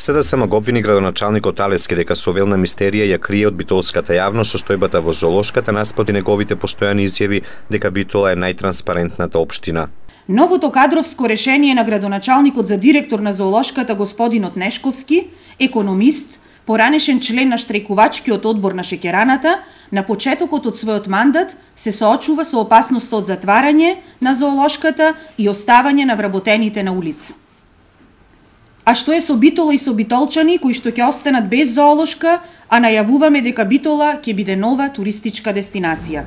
СДСМ го обвини градоначалникот Алевски дека со велна мистерија ја крие од битолската јавност состојбата во зоолошката наспроти неговите постојани изјави дека Битола е најтранспарентната општина. Новото кадровско решение на градоначалникот за директор на зоолошката господинот Нешковски, економист, поранешен член на штрајкувачкиот одбор на шеќераната, на почетокот од својот мандат се соочува со опасноста од затварање на зоолошката и оставање на вработените на улица. А што е со Битола и со битолчани кои што ќе останат без зоолошка, а најавуваме дека Битола ќе биде нова туристичка дестинација?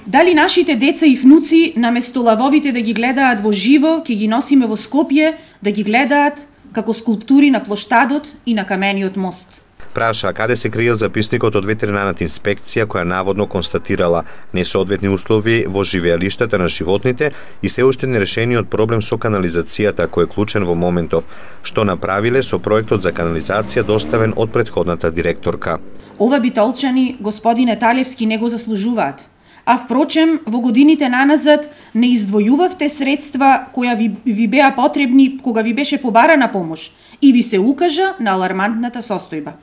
Дали нашите деца и внуци, наместо лавовите да ги гледаат во живо, ќе ги носиме во Скопје да ги гледаат како скулптури на плоштадот и на камениот мост? Праша каде се криел записникот од ветеринарната инспекција која наводно констатирала несоодветни услови во живеалиштата на животните и се уште нерешениот проблем со канализацијата кој е клучен во моментов, што направиле со проектот за канализација доставен од претходната директорка. Ова битолчани, господине Талевски, не го заслужуваат. А впрочем, во годините наназад не издвојувавте средства која ви беа потребни кога ви беше побарана помош и ви се укажа на алармантната состојба.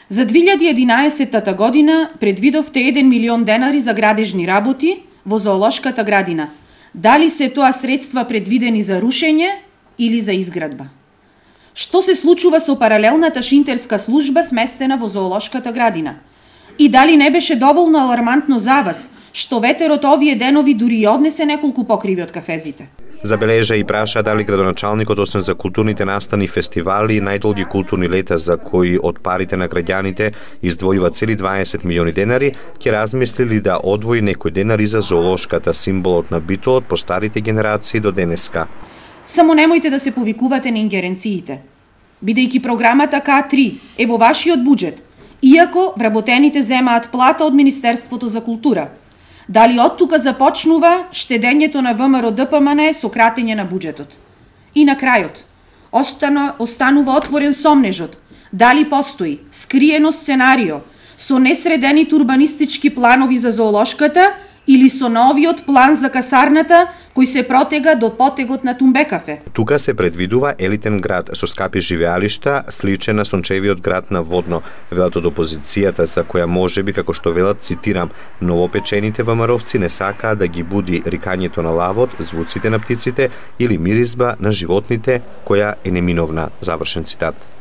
За 2011 година предвидовте 1 милион денари за градежни работи во зоолошката градина. Дали се тоа средства предвидени за рушење или за изградба? Што се случува со паралелната шинтерска служба сместена во зоолошката градина? И дали не беше доволно алармантно за вас, што ветерот овие денови дури и однесе неколку покриви од кафезите? Забележа и праша дали градоначалникот освен за културните настани и фестивали и најдолги културни лета за кои од парите на граѓаните издвојува цели 20 милиони денари, ќе размислили да одвои некој денари за зоолошката, символот на Битолот по старите генерации до денеска. Само немојте да се повикувате на ингеренциите. Бидејќи програмата К3 е во вашиот буџет, иако вработените земаат плата од Министерството за култура, дали од тука започнува штедењето на ВМРО ДПМН со кратење на буџетот? И на крајот, останува отворен сомнежот, дали постои скриено сценарио со несредените урбанистички планови за зоолошката или со новиот план за касарната кој се протега до потегот на Тумбекафе. Тука се предвидува елитен град со скапи живеалишта, сличен на сончевиот град на Водно, велат од опозицијата за која можеби, како што велат, цитирам, новопечените ВМРО-вци не сакаат да ги буди рикањето на лавот, звуците на птиците или миризба на животните која е неминовна, завршен цитат.